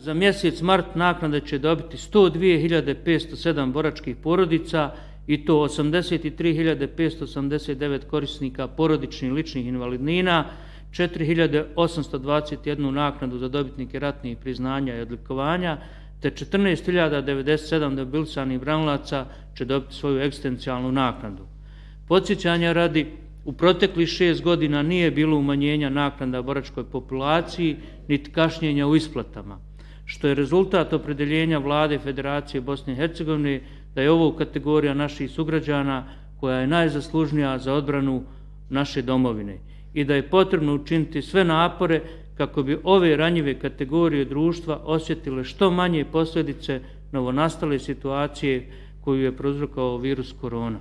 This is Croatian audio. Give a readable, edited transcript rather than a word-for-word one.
Za mjesec mart naknade će dobiti 102.507 boračkih porodica i to 83.589 korisnika porodičnih ličnih invalidnina, 4.821 naknadu za dobitnike ratnih priznanja i odlikovanja, te 14.097 demobilisanih branilaca će dobiti svoju egzistencijalnu naknadu. Podsjećanja radi, u proteklih 6 godina nije bilo umanjenja naknada boračkoj populaciji, niti kašnjenja u isplatama, što je rezultat opredjeljenja Vlade Federacije Bosne i Hercegovine da je ovo kategorija naših sugrađana koja je najzaslužnija za odbranu naše domovine i da je potrebno učiniti sve napore kako bi ove ranjive kategorije društva osjetile što manje posljedice novonastale situacije koju je prouzrokovao virus korona.